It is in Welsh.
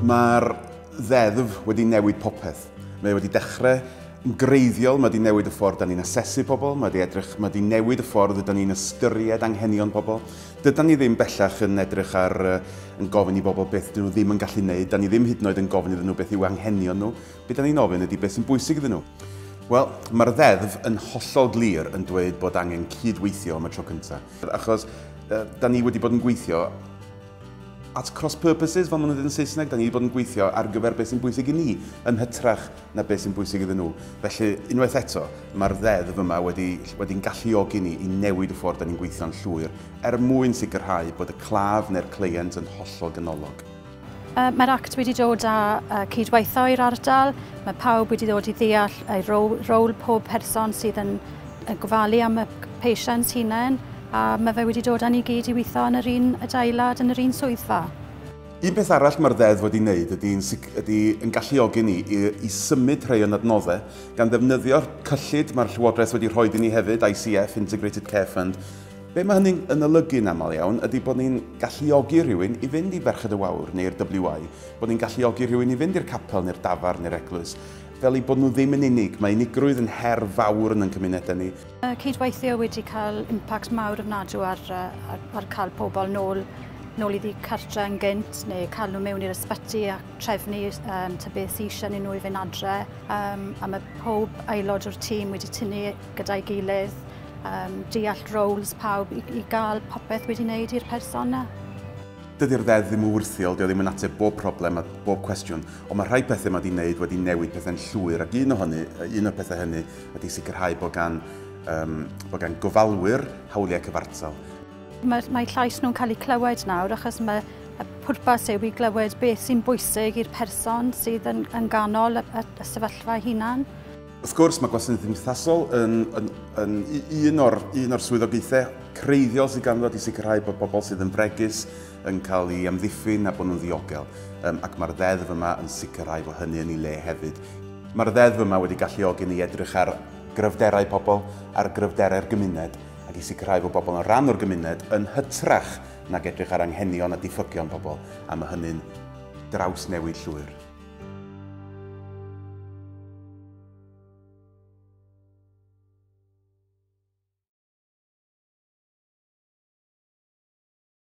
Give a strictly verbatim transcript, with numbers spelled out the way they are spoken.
Mae'r ddeddf wedi newid popeth. Mae wedi dechrau yn greiddiol, mae wedi newid y ffordd da ni'n asesu pobl, mae wedi, edrych, mae wedi newid y ffordd da ni'n ystyried anghenion pobl. Dydan ni ddim bellach yn edrych ar, yn gofyn i bobl beth dyn nhw ddim yn gallu wneud, da ni ddim hyd yn oed yn gofyn iddyn nhw beth yw anghenion nhw. Be da ni'n ofyn ydy beth sy'n bwysig iddyn nhw. Wel, mae'r ddeddf yn hollol glir yn dweud bod angen cydweithio am y tro cyntaf. Achos da ni wedi bod yn gweithio at cross purposes, fel maen nhw'n dweud yn Saesneg, da ni wedi bod yn gweithio ar gyfer beth sy'n bwysig i ni, yn hytrach na beth sy'n bwysig iddyn nhw. Felly, unwaith eto, mae'r ddeddf yma wedi, wedi'n galluogi ni i newid y ffordd da ni'n gweithio'n llwyr, er mwyn sicrhau bod y claf neu'r cleient yn hollol ganolog. Uh, Mae'r act wedi dod â uh, cydweithio i'r ardal, mae pawb wedi dod i ddeall ei rôl, rôl pob person sydd yn, yn gofalu am y patients hunain, a mae fe wedi dod â ni gyd i weithio yn yr un adeilad, yn yr un swyddfa. Un peth arall mae'r ddeddf wedi wneud ydy yn, ydy yn galluogi ni i, i symud rhai o'n adnoddau gan ddefnyddio'r cyllid mae'r Llywodraeth wedi rhoi i ni hefyd, I C F, Integrated Care Fund. Be mae hynny'n yn olygu yn aml iawn ydy bod ni'n galluogi rhywun i fynd i Ferched y Wawr neu'r W I, bod ni'n galluogi rhywun i fynd i'r capel neu'r dafarn neu'r eglwys, fel i bod nhw ddim yn unig. Mae unigrwydd yn her fawr yn ein cymunedau ni. Cydweithio wedi cael impact mawr ofnadw ar, ar, ar cael pobl nôl, nôl iddi cartre yn gynt, neu cael nhw mewn i'r ysbyty a trefnu um, ta beth sydd eisiau nhw i fynd adre. Um, a mae pob aelod o'r tîm wedi tynnu gyda'i gilydd, um, deall roles pawb i, i gael popeth wedi wneud i'r person yna. Dydy'r ddeddf ddim yn wyrthiol, dio ddim yn ateb bob problem a bob cwestiwn, ond mae rhai pethau mae wedi wneud wedi newid pethau'n llwyr, ac un o hynny, un o'r pethau hynny ydy sicrhau bod gan, um, bod gan gofalwyr hawliau cyfartal. Mae, mae llais nhw'n cael eu clywed nawr, achos mae y pwrpas yw i glywed beth sy'n bwysig i'r person sydd yn, yn ganol y, y, y sefyllfa hunan. Wrth gwrs, mae gwasanaeth cymdeithasol yn, yn, yn un o'r, un o'r swyddogaethau creiddiol sydd ganddo i sicrhau bod pobl sydd yn fregus yn cael ei amddiffyn a bod nhw'n ddiogel. Um, ac mae'r ddeddf yma yn sicrhau bod hynny yn ei le hefyd. Mae'r ddeddf yma wedi galluogi ni edrych ar gryfderau pobl, ar gryfderau'r gymuned, ac i sicrhau bod bobl yn rhan o'r gymuned yn hytrach nag edrych ar anghenion a diffygion pobl, a mae hynny'n drawsnewid llwyr.